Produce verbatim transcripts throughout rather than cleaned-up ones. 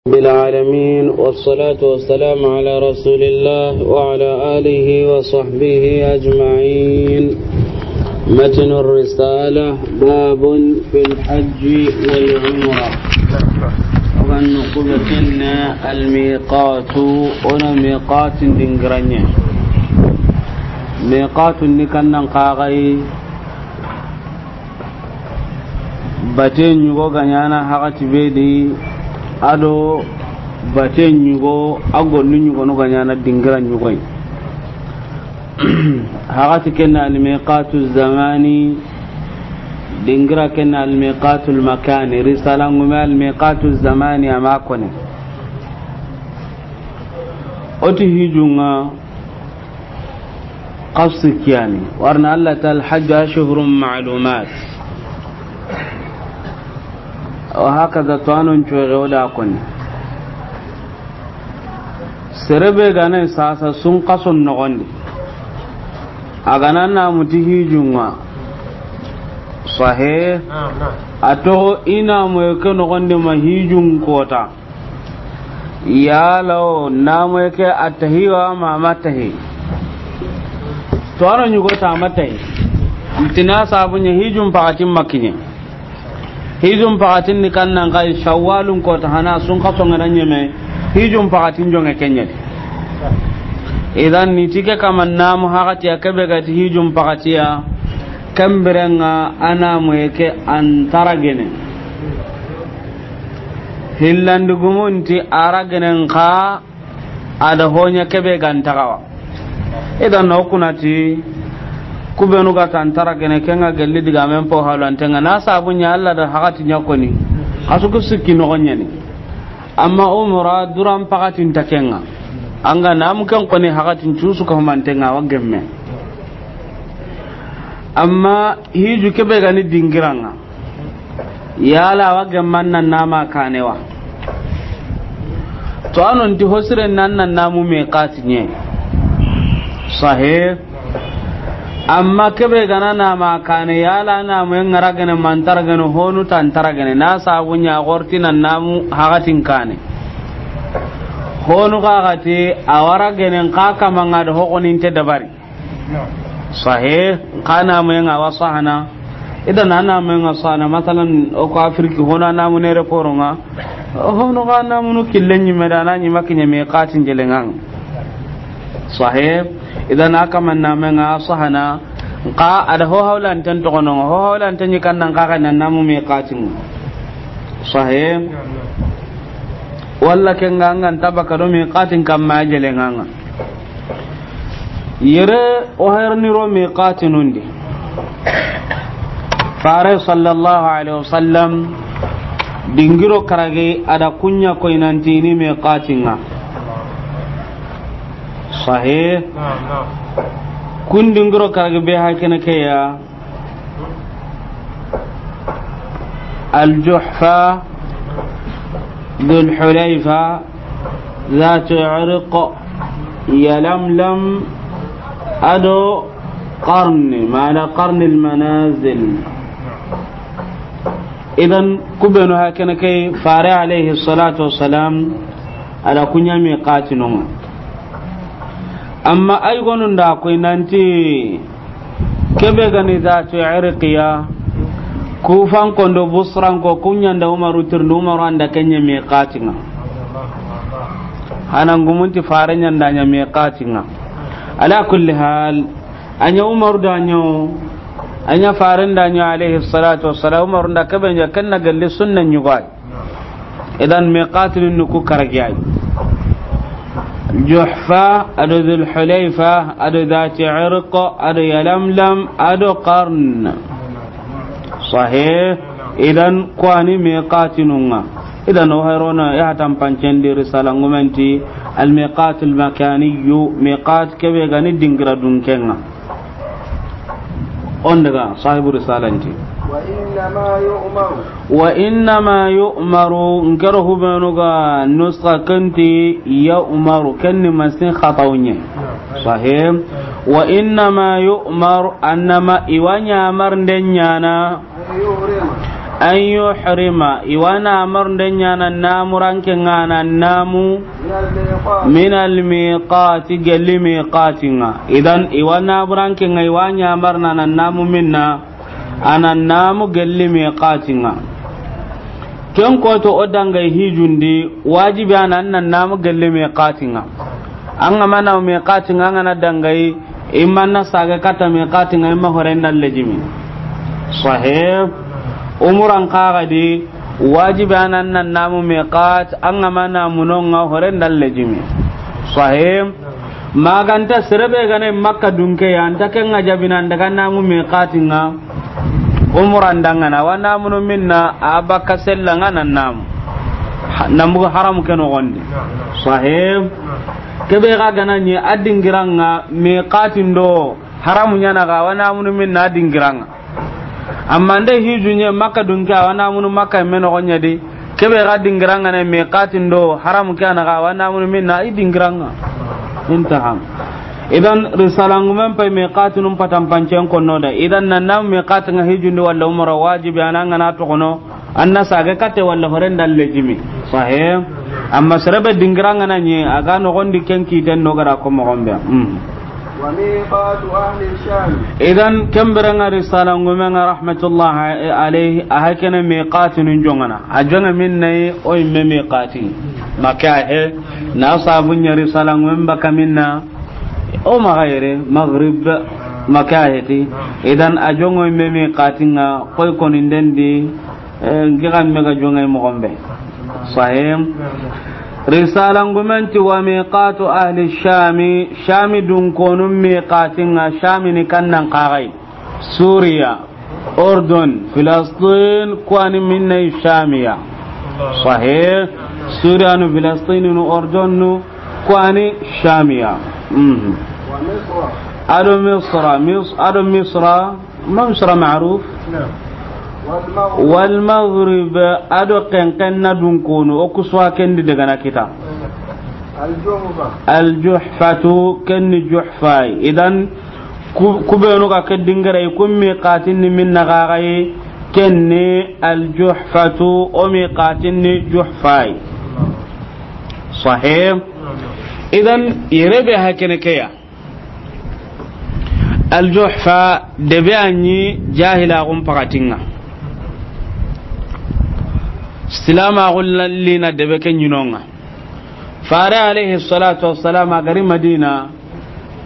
رب العالمين، والصلاة والسلام على رسول الله وعلى آله وصحبه أجمعين. متن الرسالة، باب في الحج والعمرة. Ogan kubetinna almiqatu, o na miqatin dingiranye. Miqatu ni kannan kagai, bate ɲugo ga ɲana hakati be di, ado bate ɲugo, a gollu ɲugo no ga ɲana dingira ɲugoy. Hakati ken na almiqatu zamani, dingira ken na almiqatu makani. Risala ngume almiqatu zamani ama kone. O ti hijunga qassi kiyani. Warna Allah ta الحج أشهر معلومات. Wa hakaza to anon coge o da koni. Serebe gane sasa sun kason nogondi. A gana namu ti hijunga. Sahe. A to ina mo ke nogondi ma hijun kota. Yala o namu ke atahi wa ma matahi. To ano ɲugo ta matahi. Ntina sabu ɲa hijun pakatin makiɲe. Hijun pakatin ni kannan kai shawwalun kota hana sun kaso ngana ɲeme. Hijun pakatin jonge kenye. Idan ni tike kama namu hakati ya kebe gati hijun pakatiya. Kembirenga anamu ke antara gene. Hillandi gumunti ara genen ka a da hoɲa kebe gantagawa. Idan no kunati kubenu ga tantara gene kenga gelli diga men po halantenga na sabu ɲa Allah da hakati ɲa koni. Kasu ku sikki no ɲani. Amma umra duran pakatin takenga. Anga namu ken koni hakatin cusu ka humantenga wa gemme. Amma hiju kebe gani dingiranga. Yala wa gemman nan nama kanewa. To anon ti hosiren nan nan namu miqati ɲe. Sahe. Amma kebe gana nama kane yala namu ngara gene mantara gene honu tantara gene na sabu ɲa gorti nan namu hakatin kane. Honu kakati awara gene ka kamanga da hokonin te dabari. Sahe, kana mo nga wa sahana. Idan ana mo nga sahana, masalan, o ko Afriki, hono ana mo ne reporonga. Hono kana mo no killen ni medana ni makinya me katin jelengang. Sahe, idan aka man na mo nga sahana. Ka ada ho hawlan tan to kono, ho hawlan tan ni kan nan ka kan nan mo me katin. Sahe. Walla kenga ngan tabaka do me katin kamma jelenganga. Yere o herni ro miqatinundi. Fare sallallahu alaihi wasallam dingiro karage ada kunya koinantini miqatinga. Sahih. Kun dingiro karage be hakene keya. الجحفة، ذو الحليفة، ذات عرق، يلملم، أدو قرن، معنى قرن المنازل. Idan kubenu hakene kay fare alayhi salatu wassalam ala kunya miqatinonga. Amma ay gonun da koy nanti kebe gani zatu irqiya, kufan kondo busran ko kunyanda Umaru tirndu Umaru anda kenya miqatinga. Hanan gumunti fare nyanda nya miqatinga. Ala kulli hal, anya Umaru da nyo, anya faren da nyo alayhi salatu wassalam, Umaru da kebe nya kenna galli sunna nyugai. Idan miqatinu nuku karagiyai. Juhfa, ado Dhul Hulayfa, ado Dhati Irq, ado Yalamlam, ado Qarn. Sahih. Idan kwani miqatinunga. Idan o hayrona ya hatan pancendi risala ngumenti al miqatul makaniyu, miqat kebe gani dingira dunkenga. On daga sahibu risalanti. وإنما يؤمر. وإنما يؤمر, nkero hubenu ga nuska kenti يؤمر, kenni masin khatawunye. Sahih. وإنما يؤمر, annama iwanya amar ndenyana. أن يحرم. An yuhrima, i wa na amarunden ɲa na namuranke ŋa na namu, min almiqati, gelli miqati ŋa. Idan, i wa namuranke ŋa, i wa ɲa marana na namu minna, a na namu gelli miqati ŋa. Ken koto o dangay hijundi, wajibi a na namu gelli miqati ŋa. An ga ma na miqati ŋa, an ga na dangay, i ma na sage kata miqati ŋa, i ma horen da lejimi. Sahih. Umuran kaga di, wajibi a na namu miqat, an ga ma namu no ŋa horen da lejimi. Sahih. Maganta serebe gane Makka dunke ya, anta ken ŋa jabina daga namu miqati ŋa. Umuran dangana, wa namunu minna, a bakka sella ŋa na namu. Ha-, nambugu haramu ke noxondi. Sahih. Kebe ga gana ɲi a dingiran ŋa miqatin do haramu ɲa na ga, wa namunu minna a dingiran ŋa. Amma nde hiju ɲe Makka dunke, a wa namunu Makka me noxo ɲa di. Kebe ga dingiran ŋa ne miqatin do haramu ke a na ga, wa namunu minna i dingiran ŋa. Intaha. Idan risalangumen pay miqatinun patan pancen konno da. Idan na namu miqati ŋa hijundi walla umura wajibi a na ŋa na toxono. An na sage kate walla horen da lejimi. Sahih. Amma serebe dingiran ŋa na ɲi, a ga noxondi ken kiten no gara ko moxon be. Mm. Wa miqatu ahli Sham. Idan, ken bire ŋa risalangumen ŋa rahmatullahi alayhi, a hakene miqatinun joŋana. A joŋe minna yi, o yimme miqati. Makka he, na sabu ɲa risalangumen baka minna, o maxa yere, Maghrib, Makka he ti. Idan, a joŋo yimme miqati ŋa, koy koninden di, Eh, nki xa me ga joŋay moxon be. Sahih. Risalangumen ti wa miqatu ahli Shami, Shami dunkonun miqatin ŋa, Shami ni kannan kaxay. Suriya, Urdun, Filistin, kuwani minna Shamiya. Sahih. Suriyanu, Filistininu, Urdunnu, kuwani Shamiya. Mhm. Ado Misra, Mis-, ado Misra, Misra ma'ruf. Naam. Wal Maghrib, ado kenken na dunkonu, o kusuwa kendi daga na kita. Al Juhfa. Al Juhfatu, kenni Juhfai. Idan, ku-, kubenu ga ke dingere, ku miqatin ni minna gagai, kenni Al Juhfatu, o miqatin ni Juhfai. Sahih. Idan, yere be hakene keya. Al Juhfa debe a ɲi jahilaxun paxatin ŋa. Silamaxun lina debe ke ɲinon ŋa. Fare alayhi salatu wassalam a gari Madina,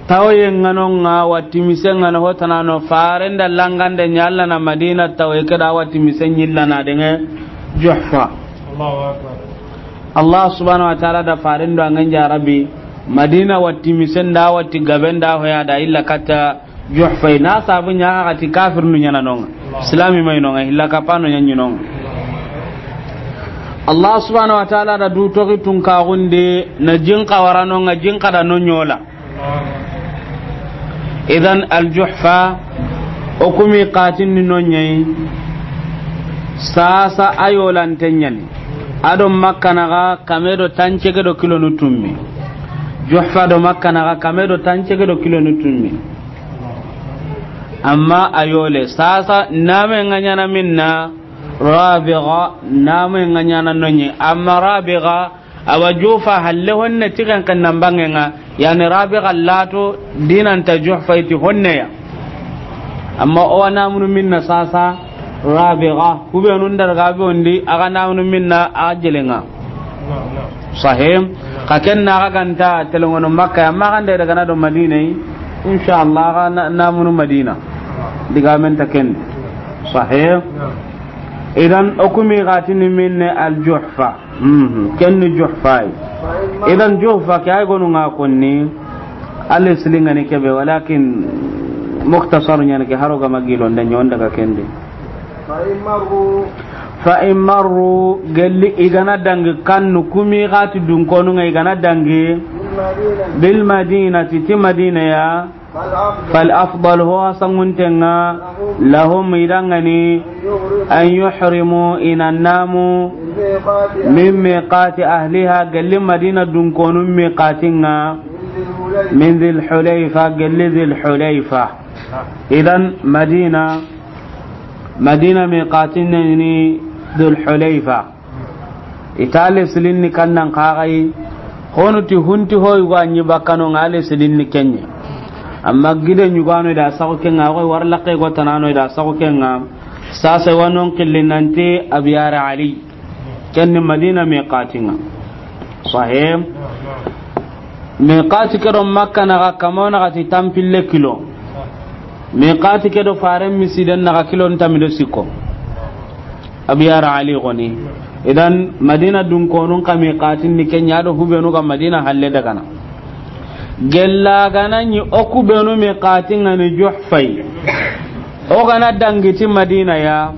tawoye ŋa no ŋa, watti mise ŋa no, hotanano faren da langande ɲa Alla na Madina tawoye ke da watti mise ɲillana denge Juhfa. Allahu Akbar. Allah subhanahu wa ta'ala da faren do a ŋa ɲa Rabbi, Madina watti misen da watti gaben da hoya da illa katta Juhfai, na sabu ɲa ga ti kafirnu ɲa na no ŋa. Islami may no ŋa, illa kapano ɲa ɲi no ŋa. Allah subhanahu wa ta'ala da du toxi tun kaxunde na jin xa wara no ŋa, jin xa da no ɲola. Idan Al Juhfa, o ku miqatin ni no ɲa yi, sasa a yolante ɲa ni. Ado Makka naxa kame do tancege do kilonu tummi. Juhfa do Makka naxa kame do tancege do kilonu tummi. Amma a yole, sasa name ŋa ɲa na minna, Rabiga, name ŋa ɲa na no ɲa yi. Amma Rabiga, Awa Juhfa halle honne ti ken ken nan bange ŋa, yani Rabiga lato dinanta Juhfa i ti honne ya. Amma o wa namunu minna sasa Rabiga, kubenu nda ga be wondi, a ga namunu minna a jele ŋa. Sahih. Xa ken na ga ganta telengono Makka ya, amma xa nde daga na do Madina yi, inshallah a ga na-, namunu Madina. Digamen ta ken. Sahih. Idan o ku miqati ni minne Al Juhfa. Mhm. Ken ni Juhfa yi. Idan Juhfa ke ay gonu ŋa konni. Alle silinga ni kebe, walakin mukhtasar ɲa ni ke, haro ga ma gilonde ɲa on daga ken di. Fa in marru, gelli i ga na dangi kannu ku miqati dunkonu ŋa, i ga na dangi bil madinati, ti Madina ya. Fal afdal, ho a sangunten ŋa, lahum, i danŋa ni, an yuhrimu, i na namu, min miqati ahliha, gelli Madina dunkonun miqatin ŋa, min Dhil Hulayfa, gelli Dhil Hulayfa. Idan Madina Madina miqatin ni Dhul Hulayfa. I ta le silinni kannan kaxayi. Honu ti hunti hoyu ga ɲi bakkano ŋa le silinni kenɲe. Amma gide ɲugano i da saxu kenŋa, xoy warlaqe go tanano i da saxu kenŋa. Sasa wa non qilli nanti Abiyar Ali. Kenni Madina miqatin ŋa. Sahih. Miqati ke do Makka naxa kamo naxati tanpille kilo. Miqati ke do faren misiden naxa kilo ntamido sikko. Abiyar Ali goni. Idan Madina dunkonun xa miqatin ni kenɲa do hubenu ga Madina halle dagana. Gella gana ɲi o kubenu miqatin ŋa ni Juhfai. O gana dangiti Madina ya.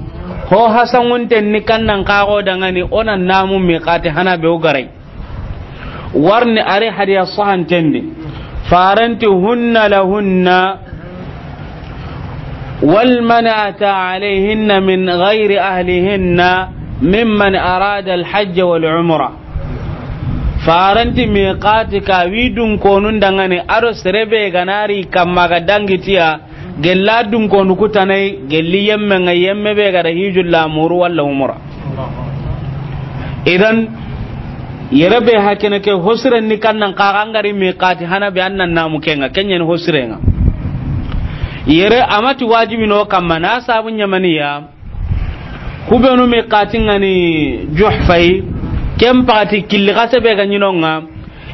Ho hasangunten ni kannan kaxo dangani o na namu miqati hana be o garai. Warni ari hadiya sahantendi. Faranti hunna lahunna wal man ata alayhinna min ghayri ahlihinna mimman arada al hajj wal umra. Faranti miqati ka wi dunkonun dangani ado serebe ganari kamma ga dangitiya. Gella dunkonu kutanai gelli yemme ŋa yemme be ga da hijul lamuru walla umra. Idan yere be hakene ke hosiren ni kannan kaxa ngari miqati hana be annan namu kenŋa kenɲen hosiren ŋa. Yere amati wajibi no kamma na sabu ɲamaniya. Kubenu miqatin ŋa ni Juhfai. Ken paxati killi xase be ga ɲi no ŋa.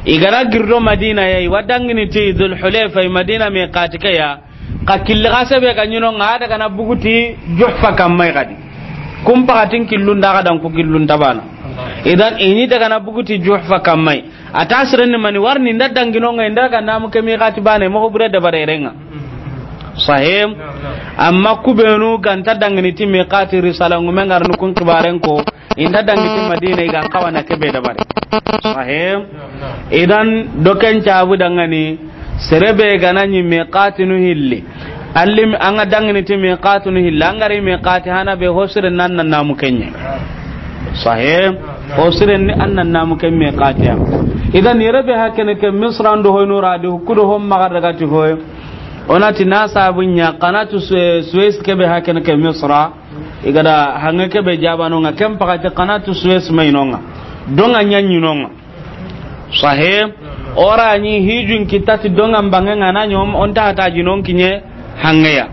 I gana girdo Madina ya i wa dangini ti Dhul Hulayfa Madina miqati ke ya. Xa killi xase be ga ɲi no ŋa daga na buguti Juhfa kamma i gadi. Kun paxatin killun da ga dan ku killun tabana. Idan i ni daga na buguti Juhfa kamma i. A ta sirenni mani warni nda dangino ŋa inda ga namu ke miqati bane mo bure dabare renŋa. Sahim. Amma kubenu ganta dangini ti miqati risala ngume ngarni kun kibaren ko. Inda dangiti Madina i ga n kawana kebe dabari. Sahih. Idan doken cabu dangani serebe gana ɲi miqatinu hilli. Allim an ga dangini ti miqatinu hilli an gari miqati hana be hosiren nan nan namu kenɲe. Sahih. Hosiren ni an nan namu ken miqati ya. Idan yere be hakene ke Misra ndo hoyno radi kudo hom maga daga ti hoy. Onati na sabu ɲa kanatu Suez kebe hakene ke Misra. I ga da hanŋe kebe jabano ŋa ken paxati kanatu Suez mayno ŋa. Donga ɲaɲino ŋa. Sahih. Ora ni hijun kitati donga mbange ŋa na ɲom on ta ta jinon kiɲe hanŋe ya.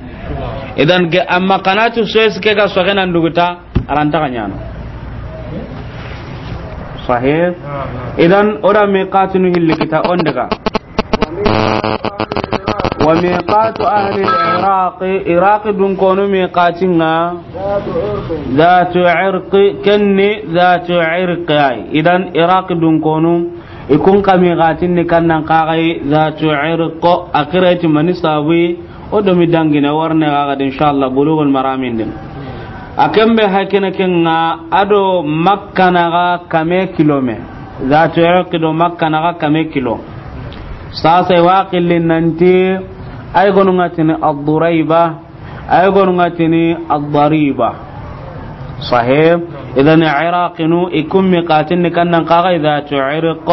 Idan ge amma kanatu Suez ke ga soge nan duguta aranta ga ɲano. Sahih. Idan ora miqatinu hilli kita on daga. Wa miqatu ahli al-Iraq, Iraq dunkonu miqatin ŋa. Dhatu irq, kenni dhatu irq ay. Idan Iraq dunkonu i kun xa miqatin ni kannan kaxay dhatu irq. Akireti mani sabu o do mi dangine warne ga gadi inshallah Bulughul Maramin din. A kembe hakene kenŋa ado Makka naxa kame kilome. Dhatu irq do Makka naxa kame kilo. Sasa i wa qilli nanti ay gonu ŋa tini Ad-Durayba, ay gonu ŋa tini Ad-Dariba. Sahih. Idan Iraqinu i kun miqatin ni kannan kaxay dhatu irq.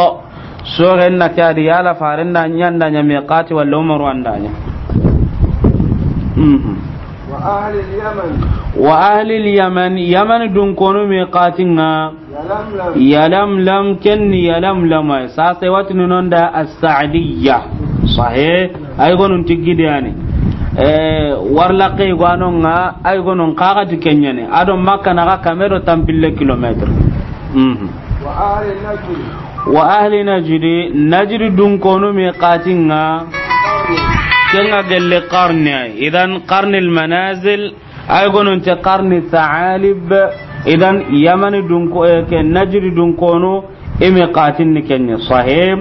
Soxen na ke adi yala faren da ɲanda ɲa miqati walla Umaru an da ɲa. Mhm. Wa ahli al-Yaman. Wa ahli al-Yaman, Yaman dunkonu miqatin ŋa. Yalamlam. Yalamlam, kenni Yalamlam ay. Sasa i wa tini non da As-Sa'diyya. Sahih. Ay gonun tigidiyani. Eh, warlaqe gwanon ŋa, ay gonun kaxati kenɲani. Ado Makka naxa kame do tanpille kilomètre. Mhm. Wa ahli Najdi. Wa ahli Najdi, Najdi dunkonu miqatin ŋa. Kenŋa gelle qarni ay. Idan qarni al-manazil. Ay gonun te qarni Tha'alib. Idan Yamani dunko, eh, ke Najdi dunkonu i miqatin ni kenɲe. Sahih.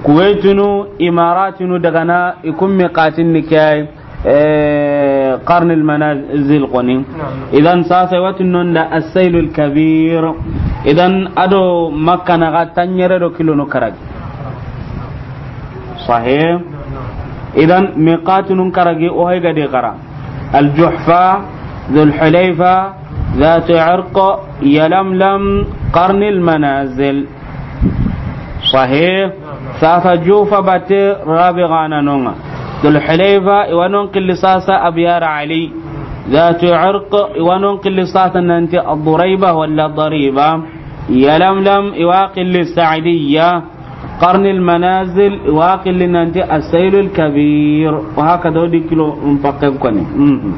Kuwaitinu, Imaratinu dagana i kun miqatin ni ke ay, eh, qarni al-manazil koni. Idan sasa i wa tini non da As-Sayl al-Kabir. Idan ado Makka naxa tanɲere do kilono karagi. Sahih. Idan miqatinun karagi o hay gade kara. Al-Juhfa, Dhul Hulayfa, Dhatu Irq, Yalamlam, Qarni al-Manazil. Sahih. Sasa Juhfa bate Rabi gana nonga. Dhul Hulayfa i wa non qilli sasa Abyar Ali. Zatu Irq, i wa non qilli sasa nanti Ad-Durayba wala Dariba. Yalamlam, i wa qilli Sa'diya. Qarnil Manazil, i wa qilli nanti As-Saylul Kabir. Wa hakada, o di kilo n pakken koni. Mhm.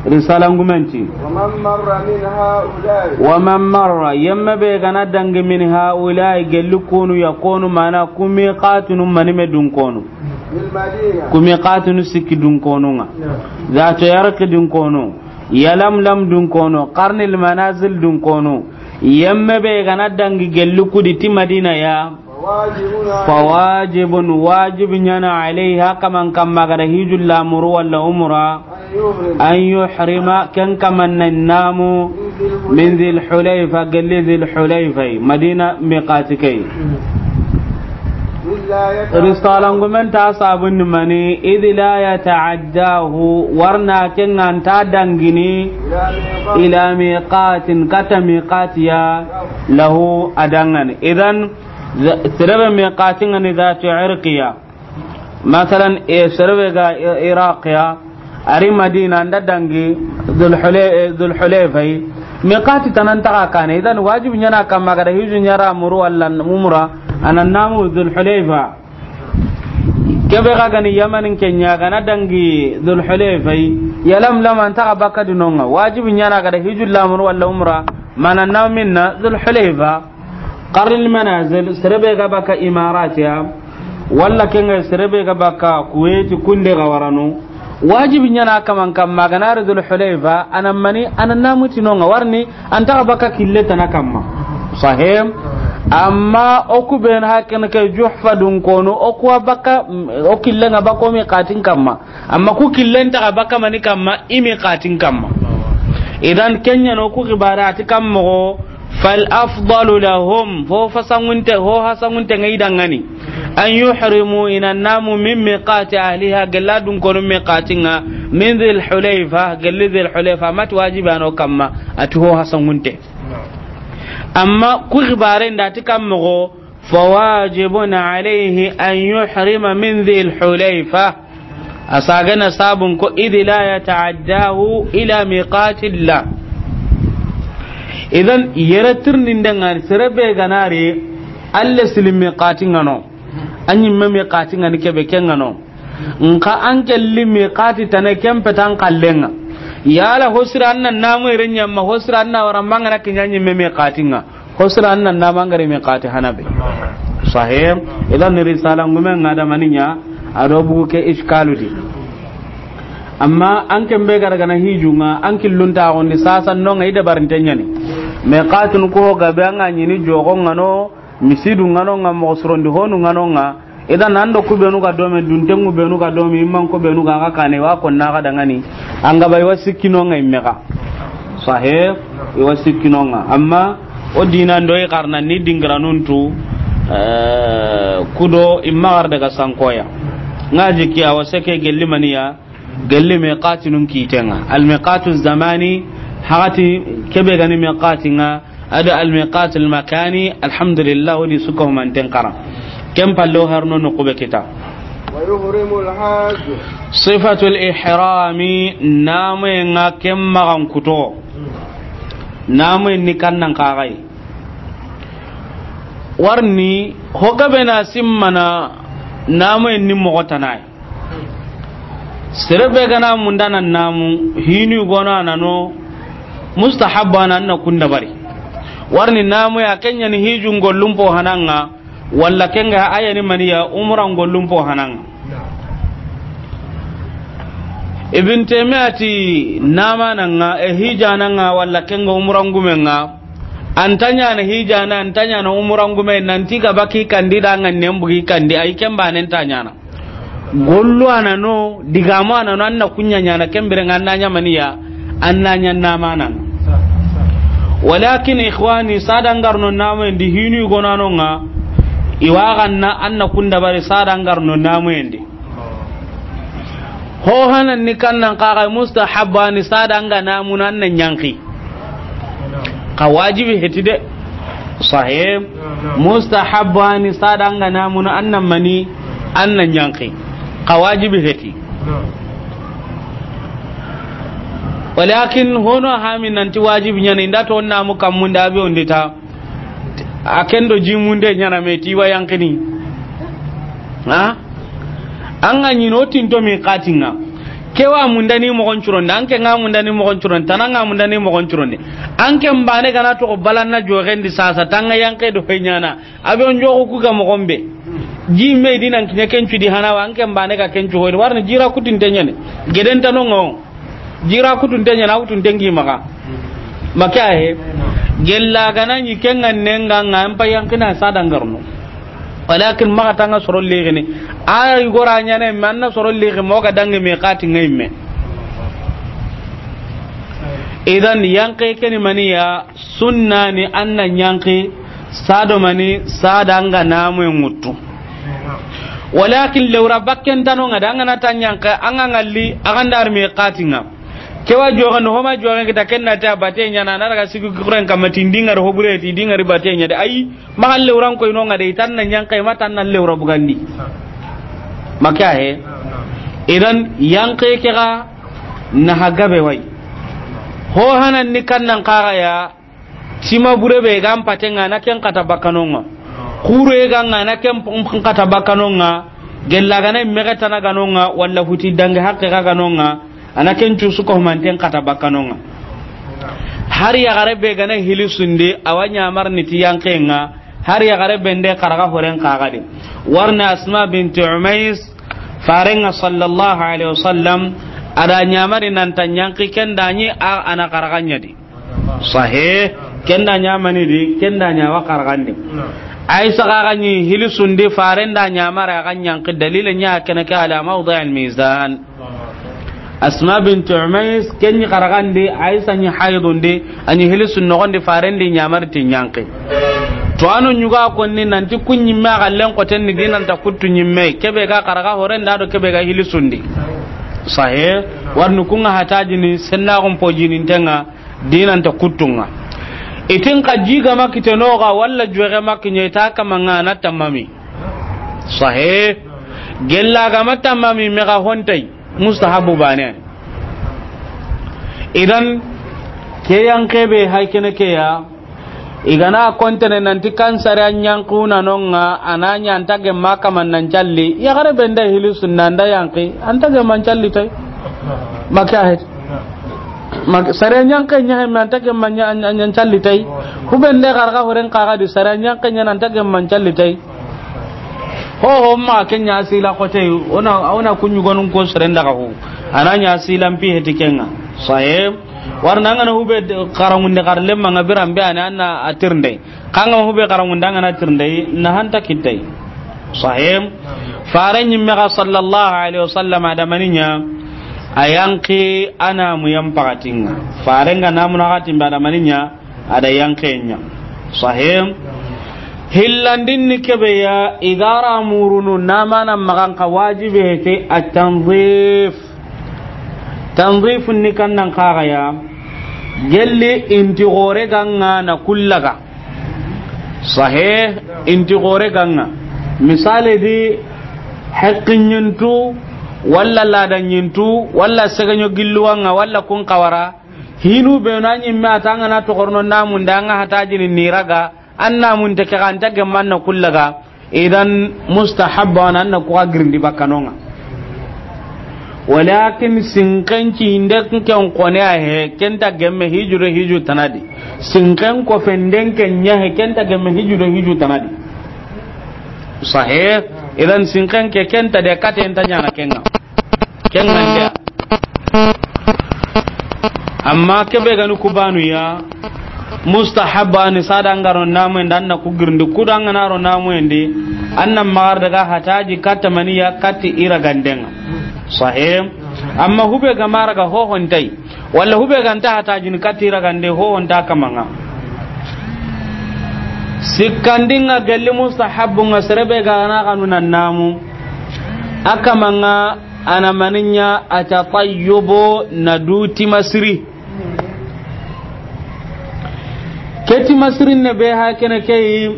Risala ngumen ti. ومن مر من هؤلاء. Wa man marra, yemme be ga na dangi, min haulai, gelli konu ya konu, mana ku miqatinu mani me dun konu. بالمدينة. Ku miqatinu sikki dun konu nga. نعم. Zatu Irq dun konu. Yalamlam dun konu. Qarnil Manazil dun konu. Yemme be ga na dangi gelli ku di ti Madina ya. فواجب عليه. Fawajibun, wajibi ɲa na, alayhi, a kaman kamma ga da hiju la muru wala umra. أن يحرم. An yuhrima, ken kaman na namu, من ذي الحليفة. Min Zil Hulayfa, gelli Zil Hulayfa, Madina miqati ke. إلا يتعدى. Risala ngumen ta sabun mani, إذ لا يتعداه, warna ken ga nta dangini, إلى ميقات. Ila miqatin, kata miqatiya, له, a dangan. Idan, za-, sere be miqati nga ni Zatu Irqiya. Masalan, e, sere be ga I-, Iraq ya, a ri Madina, a nda dangi Zul Hulay-, e, Zul Hulayfa yi. Miqati tana nta xa kane. Idan wajibi ɲa na kamma ga da hiju ɲa ra muru wala umra, a na namu Zul Hulayfa. Kebe ga ga ni Yamanin ke ɲa, ga na dangi Zul Hulayfa yi. Yalamlam, a nta xa bakka di no nga. Wajibi ɲa na ga da hiju la muru wala umra, mana namu minna Zul Hulayfa. Qarnil Manazil, sere be ga baka Imarat ya, wala ken ga sere be ga baka Kuwait, kunde ga warano. Wajibi ɲa na kaman kamma ga na ri Zul Hulayfa, a na mani, a na namu ti no nga, warni, a nta xa baka kille tana kamma. Sahih? Amma o ku be na hakken ke Juhfa dun konu, o ku wa baka, o kille nga baka o miqatin kamma. Amma ku kille nta xa baka mani kamma, i miqatin kamma. Idan ken ɲa no ku xibara ti kamma go, فالأفضل لهم, fo fasangunte, ho hasangunte nga i dangani. أن يحرموا, i na namu, من ميقات أهلها, gella dun konu miqati nga, من ذي الحليفة, gelli Zil Hulayfa, a ma ti wajibi a no kamma, a ti ho hasangunte. Amma ku xibaren da ti kamma go, فواجب عليه أن يحرم من ذي الحليفة. A sagana sabun ko, إذ لا يتعداه إلى ميقات الله. Idan, yere tirninde nga ni, sere be ga na ri, alle sili miqati nga no. A ɲimme miqati nga ni kebe ke nga no. Nka an kelli miqati tana ken petan kallenga. Yala hosira an na namu ire ɲamma, hosira an na wara mangana kiɲa ɲimme miqati nga. Hosira an na namangare miqati hana be. Sahih. Idan risala ngumen nga da mani ɲa, a do bugu ke iskalu di. Amma an ken be ga ra ga na hiju nga, an killun ta gondi sasa no nga i dabarinte ɲa ni. Miqatun ko ga be an ga ɲi ni jogo nga no, misidu nga no nga, moxo surondi honu nga no nga. Idan an do ku benu ga do me, duntengu benu ga do me, imman ko benu ga ga kane wa ko na ga dangani. An ga ba i wa sikki no nga i me ga. Sahih, i wa sikki no nga. Amma o dinan do i xarana ni dingiranun tu, eh, kudo i ma gar daga sankoya. Nga jiki a wa seke gelli maniya, gelli miqatinun kitenga. Al miqatu zamani, hagati kebe ga ni miqati nga, ado al miqatu al makani, alhamdulillah, woni suka humanten kara. Ken pallo harno no kube kita. ويحرم الحاج. Sifatul ihrami, namu nga ken magan kuto. Namu ni kannan kagai. Warni, ho gabe na simmana, namu ni moxo tanai. Sere be ga na munda na namu, hinu gono a na no, mustahabba na, na kunda bari. Warni namu ya ken ɲa ni hijun gollun po hananga, wala ken ga a ya ni maniya umran gollun po hananga. Ibn Taymiyyah ti, nama nanga, e hijana nga, wala ken ga umran gumen nga, an ta ɲa na hijana, an ta ɲa na umran gumen, nanti ga baki kandi da nga nembugi kandi, ay ken banen ta ɲa na. Gollu a na no, digamu a na no, an na kunya ɲa na ken bire nga an na ɲa maniya, an na ɲa nama nanga. Walakin ikhwani, sada ngarno namu ndi hinu gono a no nga, i wa ganna an na kunda bari sada ngarno namu ndi. Ho hanan ni kannan kaga mustahabba ni sada nga namu na an na ɲanki. Ka wajibi heti de. Sahih. Mustahabba ni sada nga namu na an na mani, an na ɲanki. Ka wajibi heti. Walakin hono hami nanti wajibi ɲana, inda to namu kammunde a be ondi ta. A ken do jimunde ɲana me ti wa yanqini. Ha? An ga ɲi no tinto miqatin ŋa. Ke wa mundani moxon curonde, an ke ŋa mundani moxon curonde, tana ŋa mundani moxon curonde. An ke mbane gana to balanna joxendi sasa, tanga yanqe do fe ɲana. A be on joxu ku ga moxon be. Ji me di nan kiɲe ken cu di hana wa, an ke mbane ga ken cu hoyde. Warni jira kutinte ɲane. Geden tano ŋa o. Jira kutunte ɲana, kutunte ngi maxa. Maka he. Gella gana ɲi ken ŋa nenga ŋa an pa yanqina sa dangarno. Walakin maxa tanga soro lexini. A igora ɲane me anna soro lexi mo ga dangi miqatin ŋa me. Idan yanqe keni maniya, sunna ni anna yanqi sado mani sada anga namu ŋuttu. Walakin lewra bakken tano ŋa da anga na ta yanqi anga ngalli agandar miqatin ŋa. Kewa joxe no homa joxe kita kenna ta bate ɲana na daga sigi kuren kamma ti ndingari hobure ti dingari bate ɲa de. Ayi, maxa lewran koy no ŋa de, tan na yanqi ma tan na lewra bugandi. Maka he. Idan yanqi ke ga na hagabe way. Ho hanan ni kannan kaga ya. Tima bure be ga mpate ŋa na ken kata bakano ŋa. Kure ga ŋa na ken p-, p-, kata bakano ŋa. Gella gana mege tana gano ŋa, walla huti dangi hakke ga gano ŋa. Ana ken cu suko manten kata bakano ŋa. Har ya gare be gana hili sunde, awa ɲamar ni ti yanqe ŋa. Har ya gare be nde karaga horen kaga de. Warna Asma binti Umais, farenga sallallahu alaihi wasallam, ada ɲamari nan ta yanqi ken da ɲi a ana karaga ɲa di. Sahih. Ken da ɲa mani di, ken da ɲa wa karagandi. Aisha ga ga ɲi hili sundi faren da ɲamara ga yanqi dalila ɲa kene ke ala mawdi' al mizan. Asma bint Umais, ken ɲi karagandi, Aisha ɲi haydundi, a ɲi hili sun nogondi faren di ɲamari ti yanqi. To ano ɲuga konni nanti kun ɲimme a gallen koten ni di nan ta kuttu ɲimme, kebe ga karaga horen da do kebe ga hili sundi. Sahih. Warni kun ŋa hatajini senna gon pojini ntenga. Dinanta kuttunga. Itin ka jiga makitenoga walla juege makiɲe ita kamanga na tamami. Sahih. Gella ga ma tamami mega hontay. Mustahabu bane. Idan ke yanqe be hay kene ke ya. Igana kontene nanti kansare a ɲanquna nonga, a na ɲa anta gemma kaman nan calli. Yaxare be nda hili sunna nda yanqi, anta gemma calli tay. Maka het. Mak-, sare ɲanqe ɲaxe me anta gemma ɲa, ɲa, ɲa calli tay. Hubende xarxa horen xaxa di sare ɲanqe ɲa anta gemma calli tay. Ho, ho, ma ke ɲa sila xote, ona, ona kuɲu gonun ko sere nda xaxu. A na ɲa sila mpi heti kenga. Sahib. Warna ngana hube de-, karangunde kar lemma nga biran be ani anna atirnde. Kanga hube karangunde ngana tirnde na hanta kitai. Sahim. Fare nyimme ga sallallahu alaihi wasallam adamaninya ayanki ana mu yampakatinga. Fare nga namu na gatin adamaninya ada yankenya. Sahim. Hillandin ni kebe ya igara murunu namana maganka wajibi hete at-tanzif. Tanzifun ni kannan kaga ya, gelli inti gore ganga na kullaga. Sahih, inti gore ganga. Misali di, haqqin yintu, walla ladan yintu, walla seganyo gilluwanga, walla kun kawara. Hinu be na nyimme atanga na tokorno namun da nga hatajini niraga. Anna mun te ke ganta gemman na kullaga. Idan mustahabba wana anna kuwa girindi bakkanonga. Walakin sinken ci inde ken kone a he, kenta gemme hiju do hiju tanadi. Sinken ko fenden ken nya he, kenta gemme hiju do hiju tanadi. Sahih. Idan sinken ke kenta de kate enta nyana kenga. Kenga ndia. Amma kebe gani kubanu ya, mustahabba ni sada ngaro namu enda anna ku girindi kuda ngana ro namu endi, anna magar daga hataji katta maniya katti ira gandenga. Sahih. Amma hube ga mara ga hohon tai. Walla hube ganta hatajini katti ira gande hohon ta kamanga. Sikkandinga gelli mustahabbu nga serebe ga na kanu nan namu. Akamanga ana maninya atatayyubu na duti masiri. Keti masirin ne be ha kene kei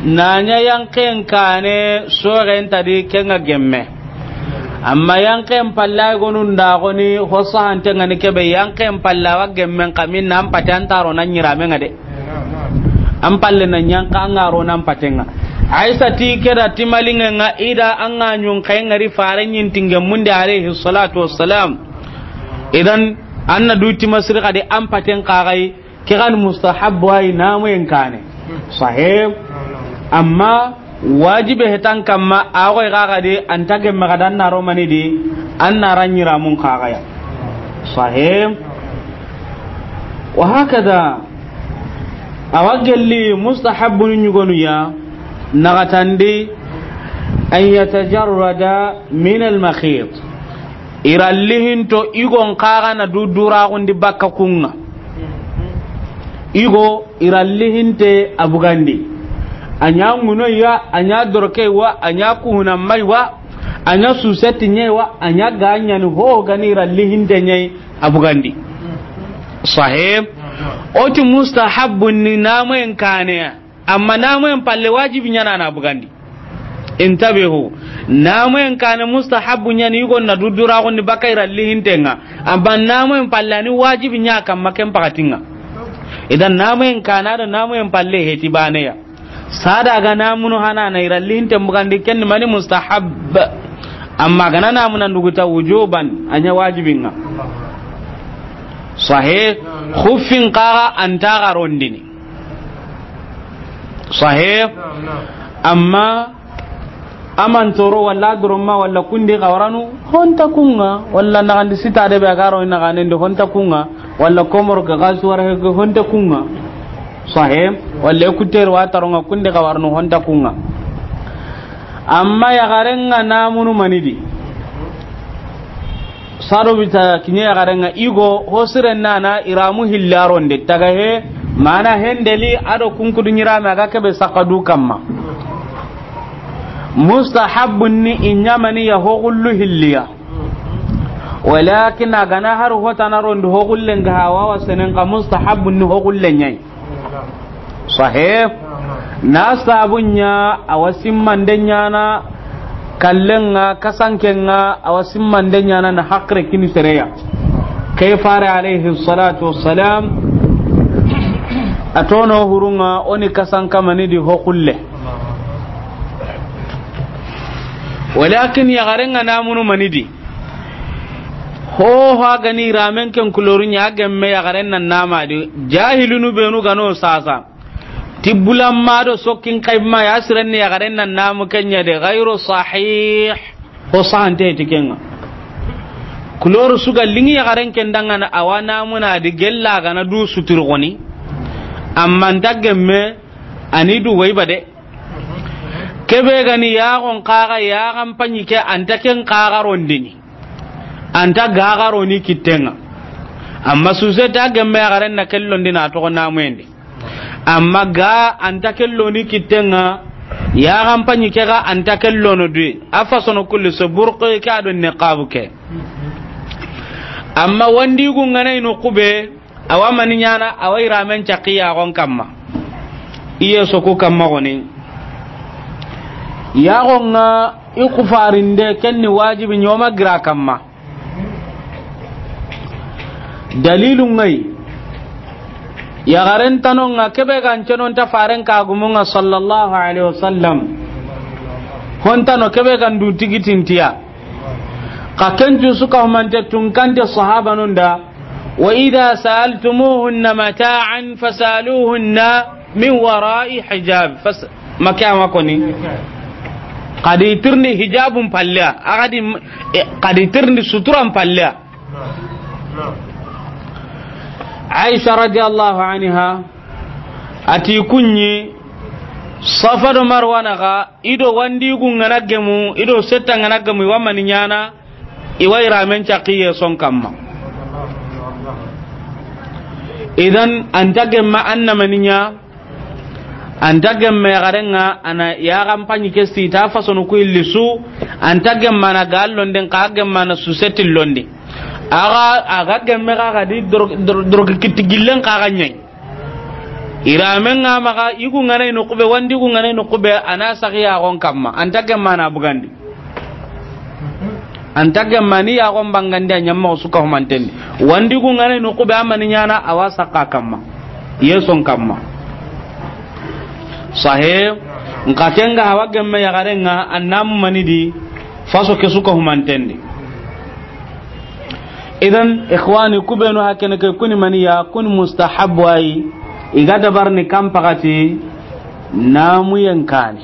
nanya yanken kane soren tadi kenga gemme. Amma yanqen palle ay gonu nda goni, ho sahante ŋa ni kebe, yanqen palle a wa gemmen xa min na an pate an ta ro na ɲiramen ŋa de. An palle na ɲanqa an ga ro na an paten ŋa. Aisa ti ke da ti malinŋen ŋa, i da an ga ɲun xa ŋari fare ɲin tinge munde alayhi salatu wassalam. Idan an na du ti masiri xa di an paten xa ga yi. Ke ga ni mustahabbu ay namuyen kaane. Sahih. Amma wajibe hetan kamma, a goy ga ga de, an ta gemme ga dan na ro mani di, an na ra ɲiramun xa ga ya. Sahih. Wa hakada, a wa gelli mustahabbu ni ɲugonu ya, naxatandi, an yatajarrada min al-makhit. I ra lihinto i gon xa ga na du duraxundi bakka kun ŋa. I go i ra lihinte a bugandi. A ɲa ŋunoyi wa, a ɲa dorokeyi wa, a ɲa kuhunammayi wa, a ɲa suseti ɲeyi wa, a ɲa ga ɲani ho ga ni i ra lihinte ɲeyi a bugandi. Sahih. O ti mustahabbun ni namuyen kaane ya. Amma namuyen palle wajibi ɲa na a na bugandi. Intabihu. Namuyen kaane mustahabbu ɲa ni i gon na du duraxundi bakka i ra lihinten ŋa. Amma namuyen palle a ni wajibi ɲa kamma ken paxatin ŋa. Idan namuyen kaane a do namuyen palle heti baane ya. Sada ga namunu hana na i ra lihinten bugandi, ken ni mani mustahab. Amma ga na namuna nduguta wujuban, a ɲa wajibin ŋa. Sahih. Xuffin xa ga an ta ga rondini. Sahih. Amma a man toro walla doroma walla kundi xawaranu, ho nta kun ŋa, walla naxandi sita de be a ga ro naxanendi, ho nta kun ŋa, walla komoro ga ga suwara he, ho nta kun ŋa. Sahih. Walla écouteur wa taron ŋa, kundi xawaranu, ho nta kun ŋa. Amma yaxaren ŋa namunu mani di. Sado bita kiɲe yaxaren ŋa i go ho siren na na iramu hilli a ronde taga he, mana hendeli a do kunkudu ɲirame a ga kebe saxa du kamma. Mustahabbun ni i ɲa mani ya ho xullu hilliya. Walakin a ga na har ho tana rondi ho xullen ga ha wa wa senen xa mustahabbun ni ho xullen ɲa yi. Sahih. Na sabu ɲa a wa simmande ɲa na kallen ŋa, kasanken ŋa a wa simmande ɲa na, na haqile kini sere ya. Ke fare alayhi salatu wassalam, a tono hurun ŋa o ni kasan kamani di ho xulle. Walakin yaxaren ŋa namunu mani di. Ho ho a ga ni iramen ken kulorun ɲa, a gemme yaxaren nan nama di. Jahilunu benu ga no sasa. Ti bulamma do sokkin kayma ya siren ni yaxaren nan namu ken ɲa de, gairu sahih. Ho sahante ti ken ŋa. Kuloru su ga liŋi yaxaren ken danŋa na a wa namuna di gella ga na du sutur goni. Amma an ta gemme a ni du wayba de. Kebe ga ni yaxon xa ga yaxan paɲi ke, an ta ken xa ga rondini. An ta ga ga roni kitten ŋa. Amma susete a gemme yaxaren na ken londi na toxo namuyen di. Amma ga an ta ken loni kitten ŋa, yaxan paɲi ke ga an ta ken lono du. A fasono kulli so burqi ke a do niqabu ke. Amma wandigun ŋa na i no xube, a wa mani ɲa na, a wa iramen caqi yaxon kamma. I ye soku kamma goni. Yaxon ŋa i kufarinde ken ni wajibi ɲoma gira kamma. Dalilu ŋa yi. Yaxaren tano ŋa kebe ga n cenon ta faren kagumun ŋa sallallahu alaihi wasallam. Ho n tano kebe ga n du tigitintiya. Xa ken cu su ka humante tunkante sahabanun da. Wa idha sa'altumuhunna mata'an fas'aluhunna min wara'i hijab. Fas-, make a ma koni. Xa di tirindi hijabun palle ya. A xa di, eh, xa di tirindi suturan palle ya. Aisha radiyallahu anha a ti kunɲi Safa do Marwa na ga, i do wandigun ŋa na gemu, i do setta ŋa na gemu, i wa mani ɲa na, i wa iramen caqi ye son kamma. Idan an ta gemma an na mani ɲa, an ta gemme yaxaren ŋa a na yaxan paɲi ke sita fasonu ku illi su, an ta gemma na ga londen xa gemma na suseti londi. A ga, a ga gemme xa ga di dor-, dor-, doroki kitti gillen xa ga ɲa yi. Iramen ŋa maxa, i ku ŋa na i no xube, wandi ku ŋa na i no xube, a na saxi yaxon kamma, an ta gemma na bugandi. An ta gemma ni yaxon bangandi a ɲamma su ka humanten di. Wandi ku ŋa na ni kube a mani ɲaana a wa saxa kamma. Yeson kamma. Sahe. Nxa ken ga hawa gemme yaxaren ŋa, an namu mani di, faso ke su ka humanten di. Idan, ikhwani, kubenu hakene ke kuni mani ya, kuni mustahabu ayi, i ga dabarini kan pakati, namuyen kani.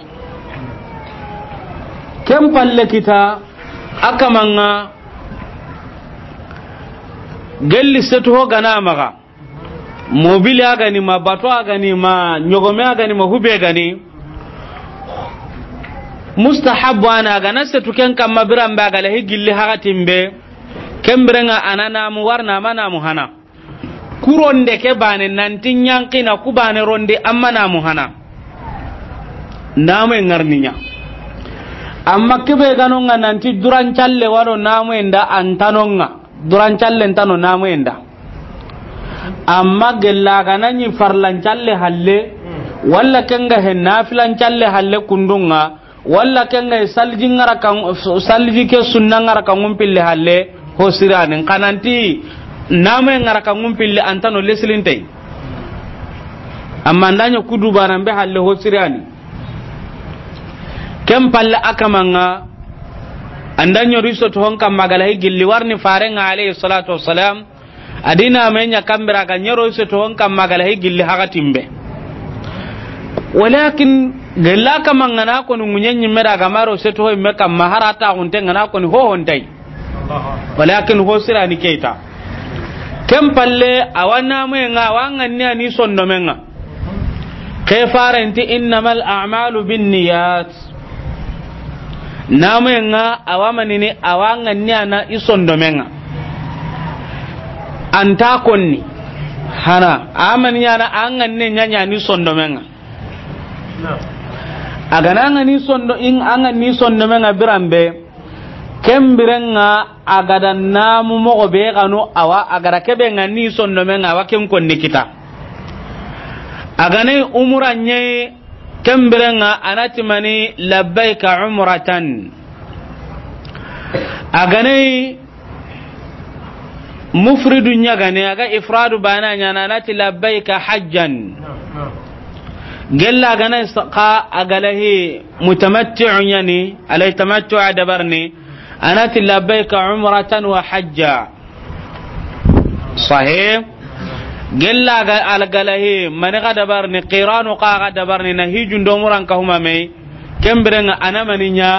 Ken palle kita, a kaman ŋa, gelli setu ho ga na maxa. Mobili a ga ni ma, bato a ga ni ma, ɲogome a ga ni ma, hube ga ni. Mustahabu a na a ga na setu ken kamma biran be a ga lahi gilli hakatin be. Ken biren ŋa a na namu wari na ma namu hana. Ku ronde ke bane nanti ɲankina ku bane rondi amma namu hana. Namu e ŋarni ɲa. Amma kebe ga no ŋa nanti duran calle waro namu e nda an ta no ŋa. Duran calle nta no namu e nda. Amma gella ga na ɲi farlan calle halle, walla ken ga he nafilan calle halle kundun ŋa, walla ken ga he salji ŋa ra kan, salji ke sunna ŋa ra kan ŋun pille halle, ho sirani. Xa nanti namu e ŋa ra kan ŋun pille an ta no lesilintey. Amma an da ɲa ku dubanan be halle ho sirani. Ken palle a kaman ŋa, an da ɲori so to hon kamma ga lahi gilli wari ni faren ŋa alayhi salatu wassalam. A di namu e ɲa kan bira ga ɲoro so to hon kamma ga lahi gilli hakatin be. Walakin gella kaman ŋa na ko ni ŋuɲen ɲimme da ga maro so to ho me kamma harata hunte ŋa na ko ni ho hontay. Walakin ho sirani keita. Ken palle a wa namu e ŋa a wa ŋanni a ni sondomen ŋa. Ke farenti innamal a'malu binniyat. Namu e ŋa a wa manini a wa ŋanni a na i sondomen ŋa. An ta konni. Hana a mani ɲaana a ŋanne ɲaɲa ni sondomen ŋa. A ga na ŋa ni sondo in a ŋa ni sondomen ŋa biran be. Ken biren ŋa a ga da namu moxo be xanu a wa a ga da kebe ŋa ni sondomen ŋa a wa ken konni kita. A ga na i umura ɲe ken biren ŋa a na ti mani labbaika umratan. A ga na i mufridu ɲa ga ne a ga ifradu bane ɲaana a na ti labbaika hajjan. Gella a ga na i saxa a ga lahi mutamatti'u ɲa ni a lahi tamattu'a dabarini. A na ti labbaika umratan wa hajja. Sahih. Gella ga a ga lahi mani ga dabarini qiranu xa ga dabarini na hijun do umuran ka huma me. Ken biren ŋa a na mani ɲa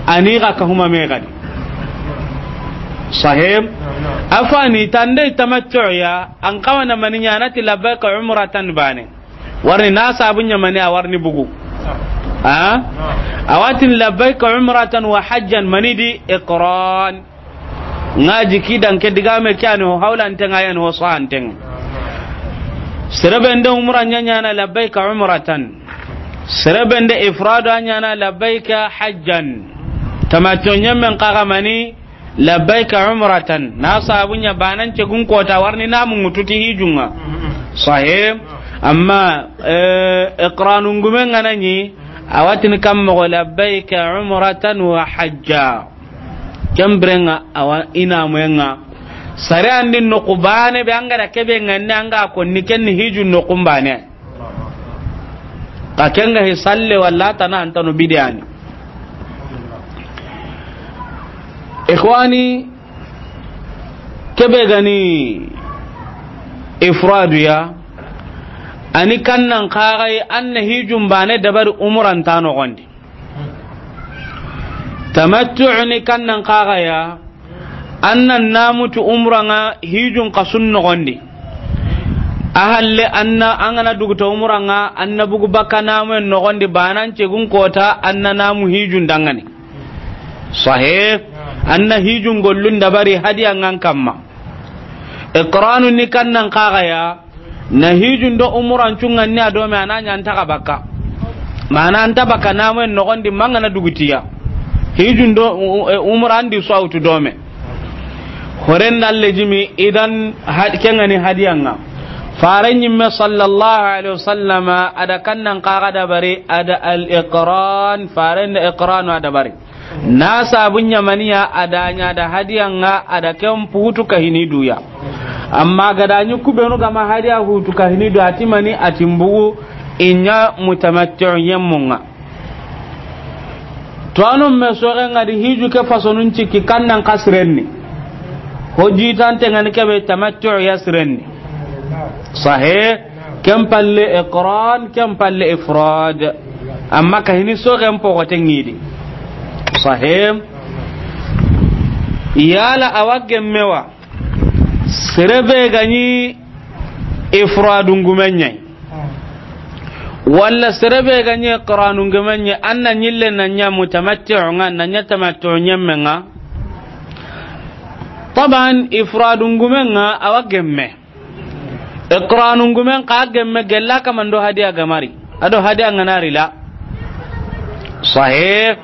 a ni ga ka huma me ga di. Sahih. A fa ni tande tamattu'a an kawa na mani ɲa a na ti labbaika umratan bane. Wari ni na sabu ɲa mani a wari ni bugu. Ha? A wa ti ni labbaika umratan wa hajjan mani di iqran. Ŋa ji ki dan ke digame ke a ni ho hawlanten ŋa ya ni ho sahanten ŋa. Sere be nde umra ɲa ɲaana labbaika umratan. Sere be nde ifradu a ɲaana labbaika hajjan. Tamattu ɲemmen xa ga mani labbaika umratan. Na sabu ɲa banan cegun kota wari ni namu ŋutu ti hijun ŋa. Sahih. Amma, eh, iqranun gumen ŋa na ɲi a wa ti ni kan moxo labbaika umratan wa hajja. Ken biren ŋa a wa i namuyen ŋa. Sare an di noqu bane be an ga da kebe ŋa ni an ga konni ken ni hijun noqun bane. Ka ken ga hi salle walla tana an ta no bidiyani. Ikhwani, kebe ga ni ifradu ya, a ni kannan xa ga yi an na hijun bane dabari umuran ta noxon di. Tamattu'u ni kannan xa ga ya, an na namu ti umran ŋa hijun xa sun noxon di. A halle an na, an ga na dugu ta umran ŋa, an na bugu bakka namuyen noxon di, banan cegun kota, an na namu hijun dangani. Sahih. An na hijun gollun dabari hadiyan ŋan kamma. Iqranu ni kannan xa ga ya, na hijun do umuran cungan ni a dome a na ɲa an ta ga bakka. Mana an ta bakka namuyen noxon di ma an ga na dugu ti ya. Hijun do, u-, u-, umuran di su a wutu dome. Horen dalle jimi idan had-, ken ŋa ni hadiyan ŋa. Faren ɲimme sallallahu alaihi wasallama a da kannan xa ga dabari a da al iqran, faren da iqranu a dabari. Na sabu ɲamaniya a da ɲa da hadiya ŋa a da ken putu kahini duya. Amma ga da ɲi kubenu ga ma hadiya hutu kahini du a ti mani a ti mbugu i ɲa mutamatti'u ɲemmu ŋa. To anu me soxe ŋa di hiju ke fasonun cikki kannan kasirenni. Ho jitante ŋa ni kebe tamattu'u ya sirenni. Sahih. Ken palle iqran, ken palle ifrad. Amma kahini soxen poxote ŋidi. Sahih. Yala awa gemme wa? Sere be ga ɲi ifradun gumen ɲa yi, walla sere be ga ɲi iqranun gumen ɲa yi, an na ɲille na ɲa mutamatti'u ŋa, na ɲa tamattu'u ɲemme ŋa. Taban ifradun gumen ŋa awa gemme. Iqranun gumen xa gemme gella kamando hadiya gamari. A do hadiya ŋa na ri la. Sahih.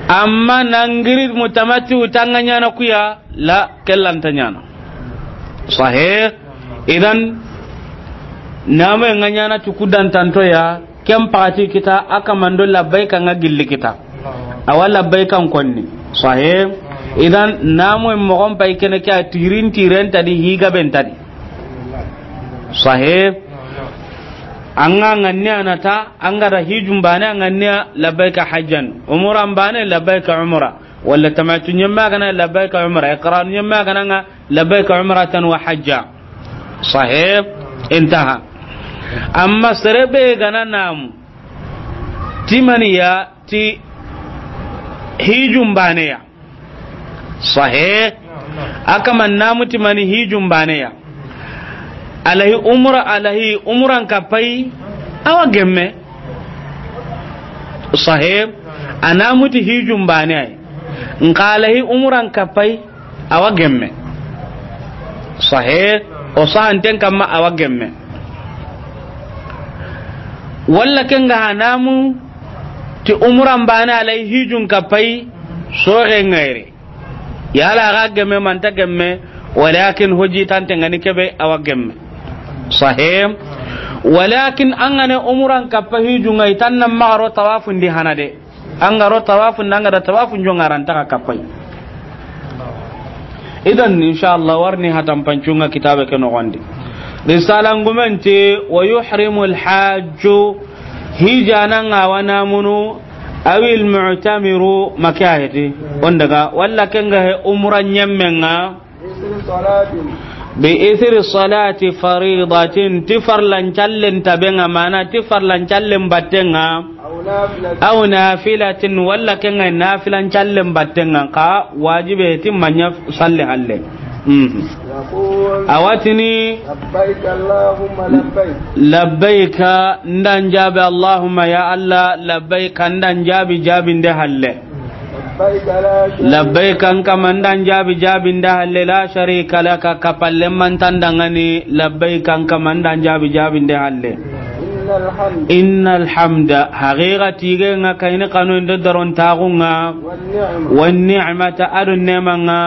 Amma nangiri mutamatti'u tanga ɲana kuya la, kellanta ɲana. Sahih. Idan namu ŋa ɲana ti kudantanto ya. Ken pati kita a kamando labbaika ŋa gilli kita. Awa labbaika n konni. Sahih. Idan namu mogon pay kene ke a tirin tiren tadi higa ben tadi. Sahih. An ga ŋanne anata, an ga da hijun bane a ŋanne labbaika hajjan. Umuran bane labbaika umra. Walla tamattu ɲemme a ga na labbaika umra. Iqran ɲemme a ga na ŋa labbaika umratan wa hajja. Sahih. Intaha. Amma sere be ga na namu ti mani ya ti hijun bane ya. Sahih. A kama namu ti mani hijun bane ya. Alahi umra, alahi umran kappai awa gemme. Sahih. A namu ti hijun bane ay. Nka alahi umran kappai awa gemme. Sahih. O sahanten kamma awa gemme. Walla ken ga ha namu ti umuran bane alahi hijun kappai soxe ŋayre. Yala a ga gemme manta gemme, walakin hojitante ŋa ni kebe awa gemme. Sahih. Walakin an ga ne umuran kappa hijun ŋa i tan na maxa ro tawafun di hana de. An ga ro tawafun, an ga da tawafun jonga ran ta ka kappai. Idan inshallah warni hatan pancun ŋa kitabe ke noxon di. Risala ngumen ti wa yuhrimul hajju. Hijana ŋa wa namunu, awil mu'tamiru, maka heti. On daga, walla ken ga he umra ɲemme ŋa. Bi isri salati faridatin, ti farlan callen tabe ŋa, mana ti farlan callen batte ŋa. Aw nafilatin, walla ken ga nafilan callen batte ŋa, ka wajibe ti manya salli halle. Mhm. Awa tini, labbaika Allahumma labbaik. Labbaika, n da n jaabi, Allahumma, ya Allah, labbaika, n da n jaabi, jaabinde halle. Labbaika la sharika. Labbaika, n kama, n da n jaabi, jaabinde halle, la sharika laka, kapalle manta n da ŋa ni, labbaika, n kama, n da n jaabi, jaabinde halle. Innal hamda. Innal hamda, haqiqa tige ŋa kayini kanu ndo daron taxu ŋa. Wan ni'ma. Wan ni'mata, ado nema ŋa.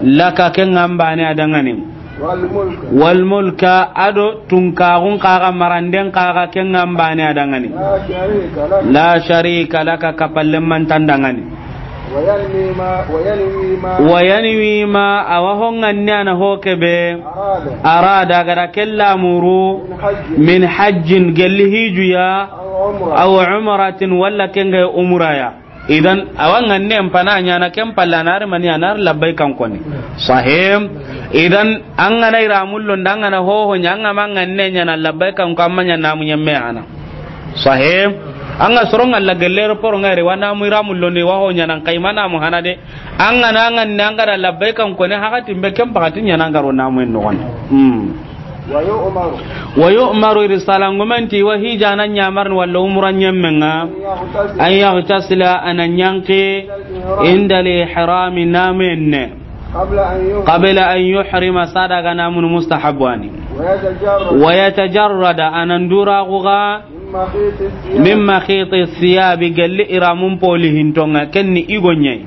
Laka, ke ŋa n bane a da ŋa ni. Wal mulka. Wal mulka, ado tunkaxun kaxa, maranden kaxa, ke ŋa n bane a da ŋa ni. La sharika laka. La sharika laka, kapalle manta n da ŋa ni. Wa yanwi ma, wa yanwi ma. Wa yanwi ma, awa ho ŋanne a na ho kebe. Arada. Arada, a ga da kella muru. Min hajjin. Min hajjin, gelli hiju ya. Aw umra. Aw umratin, walla ken ga umra ya. Idan, awa ŋanne n pana ɲana ken palla, a na ri mani, a na ri labbaika n koni. Sahih. Idan, an ga na i ramullo nda, an ga na hoho ɲa, an ga ma ŋanne ɲana labbaika n ko, amma ɲa namu ɲemme hana. Sahih. An ga soron ŋa la gelle aéroport ŋa ri, wa namu i ramullo ni, wa ho ɲana n kay ma namu hana de. An ga na ŋanne, an ga da labbaika n koni, hakati mbe ken pakati ɲana n ga ro namu en noxon. Hmm. Wa yu'maru. Wa yu'maru, risala ngumen ti wa hijana ɲamarni walla umra ɲemme ŋa. An yaghtasila. An yaghtasila, a na ɲanki. Inda al-ihrami, namu enne. Qabla an yuhrima. Qabla an yuhrima, sada ga namunu mustahabu wa ni. Wa yatajarrada. Wa yatajarrada, a na n dura guga. Min makhiti thiyabi. Min makhiti thiyabi, gelli iramun poli hinto ŋa, ken ni igo ɲa yi.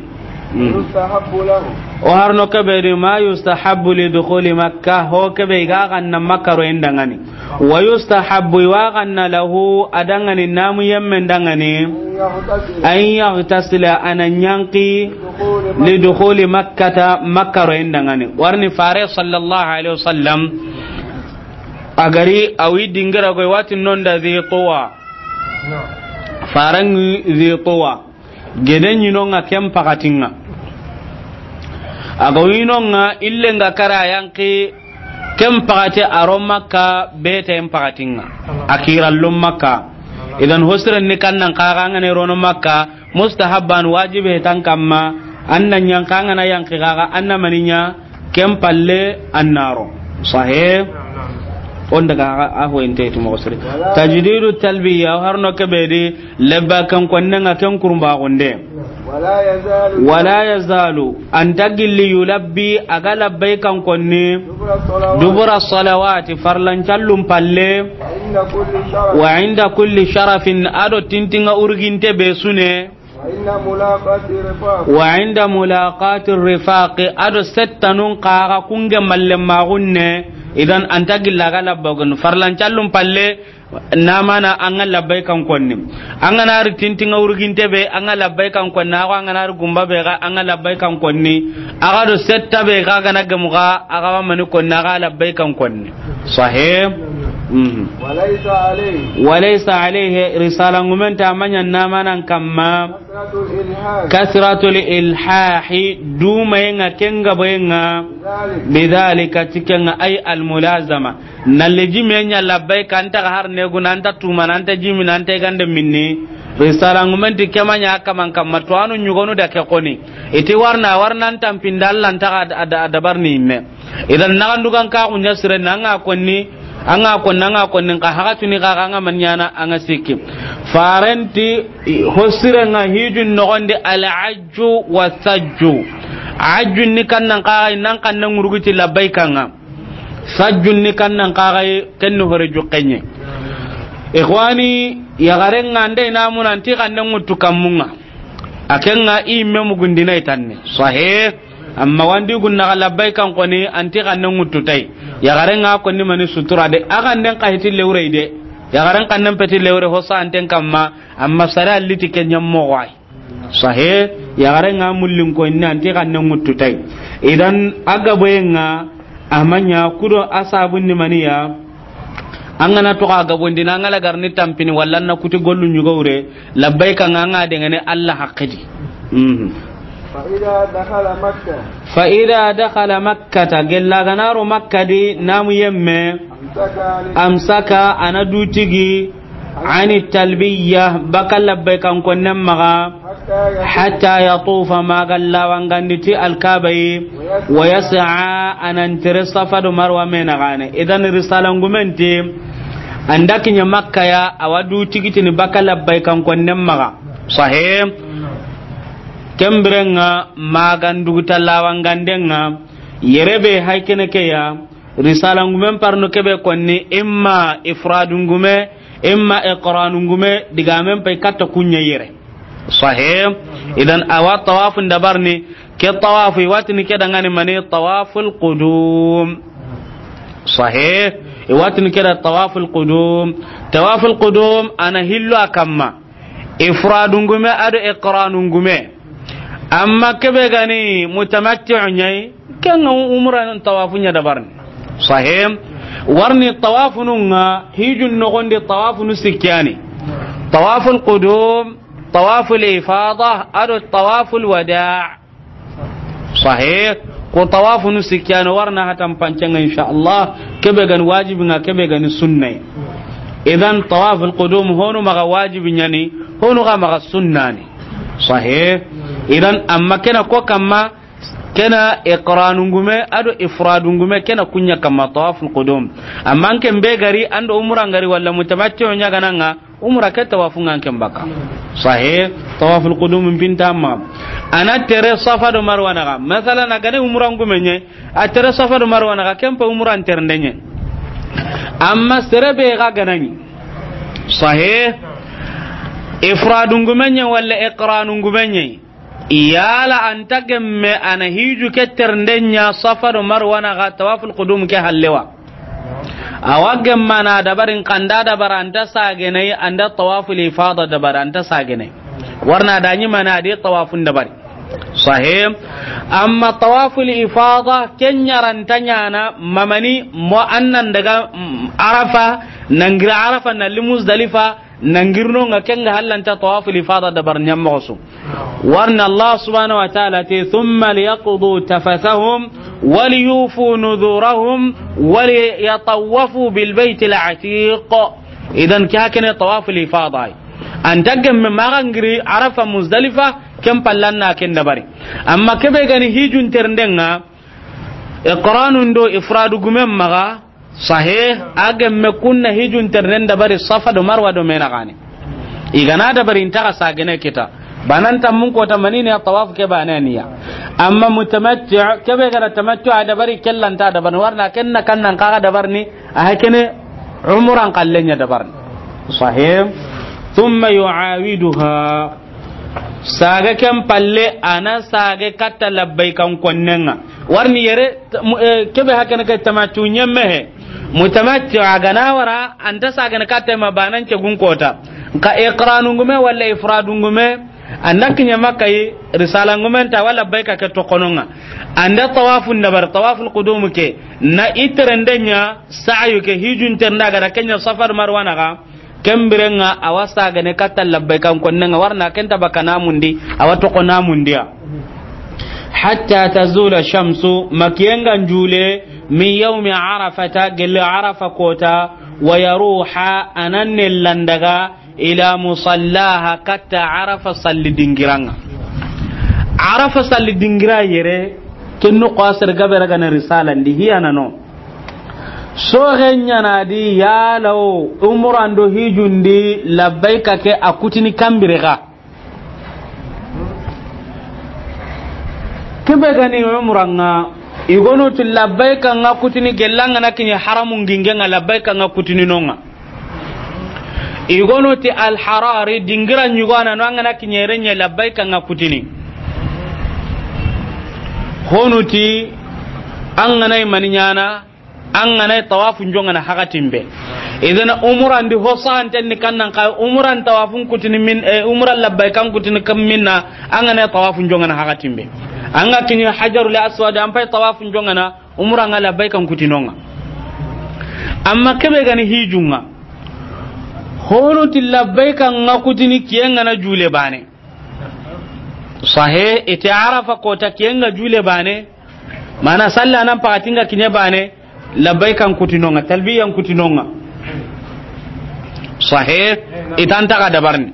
Mm. يستحب له. O har no kebe di ma yustahabbu li dukhuli Makka, ho kebe i ga ganna Makka ro i danŋa ni. Wa yustahabbu, i wa ganna lahu, a danŋa ni, namu yemme danŋa ni. أن يغتسل. An yaghtasila, a na yanqi, لدخول مكة. Li dukhuli Makkata, Makka ro i danŋa ni. Warni Fare sallallahu alaihi wasallam, a gari a wi dingira goy wati nonda Zi Tuwa. Faran Zi Tuwa. Gede ɲi no ŋa ken pakatinŋa. A ga wi no ŋa ille ŋa kara yanqi ken pakati a ro Makka bete en pakatinŋa. A kirallo Makka. Idan hosiren ni kannan kaga ngane rono Makka mustahabban wajibe tan kamma an na yanqa ngana yanqi kaga an na maninya ken palle an na ro. Sahe. On daga a ho inte tu mo sire. Tajdidu talbiya har no kebe di. Labba kan konne ŋa ken kurumba gonde. ولا يزال. Wala yazalu, anta gilli yulabbi, a ga labbai kan konni. دبر الصلوات. Dubura salawati, farlan callum palle. وعند كل شرف. Wa inda kulli sharafin, a do tintinŋa urginte be su ne. وعند ملاقاة الرفاق. Wa inda mulaqati rifaqi, a do settanun kaga kunge malle magunne. Idan anta gilla ga labba gun farlan callum palle. Namana an ga labbai kan konni. An ga na ri tintinŋa urginte be, an ga labbai kan konni. Ago an ga na ri gumba be ga, an ga labbai kan konni. A ga do setta be ga, ga na gamu ga, a ga wa mani konni, a ga labbai kan konni. Sahe. Mhm. وليس عليه. Wa laysa alayhi, risala ngumen ta manya namanan kamma. كثرة الإلحاح. Kasratul ilhahi, dumayenga kenga boyenga. بذلك. Bidhalika, tikenga ay almulazama. Nalle jime ɲa labbaika, anta ga har neguna, anta tumana, anta jimina, anta gande minni. Risala ngumen ti kemanya kaman kamma to anu ɲugonu da ke koni. Iti warna, warna anta mpinda Allah anta ga da, da, dabarni me. Idan nagandugan ka kunya sire nanga konni, anga konni, anga konni ka haga tuni ka anga manyana anga sikki. Farenti hosire nga hijun nogondi al ajju wa sajju. Ajju ni kannan ka nan kannan ngurguti labbaika nga. Sajjun ni kannan kaxay, ken ni hore juxenɲe. Ixwani, yaxaren ŋa nde i na muna nti xanne ŋuttu kammun ŋa. A ken ŋa i yimme mugundina i tanne. Sahih. Amma wandi gunna xa labbaykan koni, anti xanne ŋuttu tay. Yaxaren ŋa konni mani sutura de. A xannen xa hiti lewrey de. Yaxaren xannen peti lewre ho santen kamma. Amma sare alliti ke ɲammoxo ay. Sahe, yaxare nga mullin ko inni anti xanne ŋuttu tay. Idan a gaboye nga a maɲa kudo a sabun ni maniya. An gana to xa gabondina an ga la garni tampini walla na kuti gollu ɲugowre labbayka nga nga dengene Allah haqqidi. Mhm. فإذا دخل مكة. Fa ida dakhala Makkata, gella ganaro Makka di namu yemme. أمسك عن. Amsaka, ana dutigi. Ani talbiya, baka labbaykan konnen maxa. Hatta yatufa, maga lawangandi ti alkabayi. Wa yas'a, anan tere Safa do Marwa me naxane. Idan risalan gumenti, anda kiɲa Makka ya, awa du tigitini baka labbaykan konnen maxa. Sahe. Kembirenga, magan duguta lawangandenga, yerebe haykene keya. Risala ngumen parno kebe konni, imma ifradu ngume, imma iqranu ngume, digamen pay katta kunya yere. Sahih. Idan awa tawafun dabarni, ke tawafu i watini ke dangani mani tawaful qudum. Sahih. I watini ke da tawaful qudum. Tawaful qudum ana hillo akamma. Ifradu ngume ado iqranu ngume. Amma kebe gani mutamatti'u ɲayi, kenga umra nan tawafu ɲa dabarni. Sahih. Warni tawafu nunga hijun nogondi tawafu nu sikkiyani. Tawaful qudum, tawaful ifada, ado tawaful wada'. Sahih. Ko tawafunu sikkiyano warna hatan pancenga, insha Allah. Kebe gani wajibi nga, kebe gani sunnay. Idan tawaful qudum honu maga wajibi ɲani, honu ga maga sunnani. Sahih. Idan amma kena ko kamma, kena iqranu ngume ado ifradu ngume, kena kunya kamma tawaful qudum. Amma anke mbe gari ando umra ngari walla mutamatti'u ɲagananga, umra ke tawafu ngan ken baka. Sahih, tawaful qudum pinta ma. Ana tere Safa do Marwa naga. Masala na gane umra ngumenye, a tere Safa do Marwa naga, ken pa umra terdenye. Amma sere be ga ganani. Sahih, ifradu ngumenye wala iqranu ngumenye. Yala an ta gemme a na hiju ke terenden ɲa Safa do Marwa naxa tawaful qudum ke halle wa? A wa gemma na dabarin kanda dabara an ta sagenai, an da tawaful ifada dabara an ta sagenai. Warna da ɲi mana di tawafun dabari. Sahih. Amma tawaful ifada ken ɲa ra an ta ɲana mamani mo, an nan daga, mm, Arafa, nan giri Arafa na li Muzdalifa, nan girno ŋa ken ŋa hallanta tawaful ifada dabar ɲammoxo su. Warna Allah subhanahu wa ta'ala te, "Thumma liyaqdu tafathahum waliyufu nudhurahum waliyatawafu bil baytil atiq." Idan ke hakene tawaful ifada ay. An ta gemme maxa ngiri Arafa Muzdalifa, ken pallan na ken dabari. Amma kebe gani hijun terenden ŋa, iqranun do ifradu gumen maxa, Sahih, a gemme kunna hijun terenden dabari Safa do Marwa do mena gane. I ga na dabari inta ga sagene kita. Banan tammun kota manine ya tawaf ke bane niya. Amma mutamatti'u, kebe ga da tamattu'u a dabari kellanta dabarni warna kenna kannan kaga dabarni, a hakene umran kallen ɲa dabarni. Sahih. Thumma yu'awiduha. Sage ken palle a na sage katta labbaykan konnen ŋa. Warni yere, t-, mu-, eh, kebe hakene ke tamattu ɲemme he. Mutamatti'u a ga na wara, an ta sagene katta ma banan cegun kota. Nka iqranun gume walla ifradun gume, an da kiɲa Makka yi, risalan gumen ta wala labbayka ke toxonon ŋa. An da tawafun dabar, tawaful qudum ke, na i terenden ɲa, sa'yu ke, hijun terenda ga da ken ɲa Safa do Marwa naxa. Ken biren ŋa a wa sagene katta labbaykan konnen ŋa warna ken ta baka namundi, a wa toxo namundiya. Hatta tazula shamsu, ma kiyen ga jule, min yawmi Arafata, gelle Arafa kota, wa yaruha, a na ne landaga, ila musallaha, katta Arafa salli dingiran ŋa. Arafa salli dingira yere, ken noxo a sere gabe ra ga na risalandi, hiya na no. Soxe ɲana di yala o umran do hijun di labbayka ke a kutini kambire ga. Kebe gani umran ŋa, i gono ti labbayka ŋa kutini gella ŋa na kiɲe haramun ginge ŋa labbayka ŋa kutini no ŋa. I gono ti al-harari dingira ɲugo a na no an ga na kiɲe renɲe labbayka ŋa kutini. Honu ti an ga na i mani ɲana, an ga na tawafun jongana hakatin be. Idan umran di ho sahanten ni kannan ka umran tawafun kutini min, eh, umran labbaykan kutini kam minna, an ga na tawafun jongana hakatin be. An ga kiɲi Hajarul Aswad an pay tawafun jongana, umran ŋa labbaykan kutini no ŋa. Amma kebe gani hijun ŋa. Honu ti labbaykan ŋa kutini kiyen ŋa na jule bane. Sahe, ite Arafa kota kiyen ŋa jule bane. Mana salla nan pakatin ŋa kiɲe bane. Labbaykan kutini no ŋa, talbiyan kutini no ŋa. Sahe, i ta nta ga dabarni.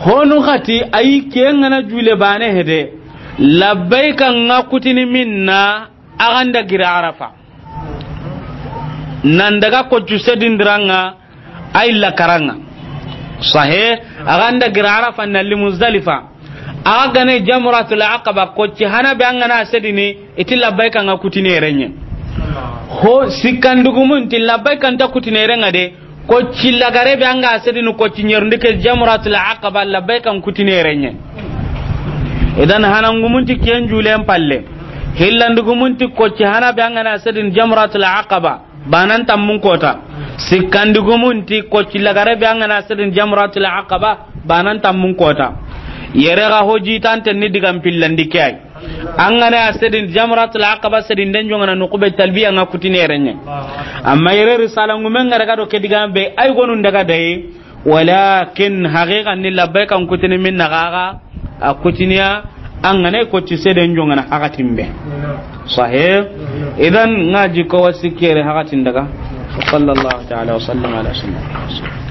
Honu xati ayi kiyen ŋa na jule bane hede. Labbaykan ŋa kutini minna a ga nda giri Arafa. Nan daga koccu sedindiran ŋa, ay lakaran ŋa. Sahe, a ga nda giri Arafa na li Muzdalifa. A ga gane Jamratul Aqaba, kocci hana be an ga na sedini, i ti labbaykan ŋa kutini renɲe. Ho, sikkandugumun ti labbaykan ta kutini renŋa de, kocci lagare be an ga sedini, kocci ɲerundi ke Jamratul Aqaba, labbaykan kutini renɲe. Idan hanangumun ti kiyen julen palle. Hillandugumun ti kocci hana be an ga na sedini Jamratul Aqaba. Banan tammun kota. Sikkandugumun ti kocci lagare be an ga na sedini Jamratul Aqaba, banan tammun kota. Yere ga hoji tante ni digan pillandi ke ay. An ga na sedini Jamratul Aqaba sedini den jongana nukube talbiya ŋa kutini renɲe. Amma yere risalan gumen ŋa ra ga do ke digan be ay gonun daga daye. Walakin haqiqan ni labbaykan kutini minna ga ga a kutiniya an ga na kocci seden jongana hakatin be. Sahe. Idan ŋa ji ko wasi kere hakatin daga. Sallallahu ta'ala wa sallam ala sayyidina.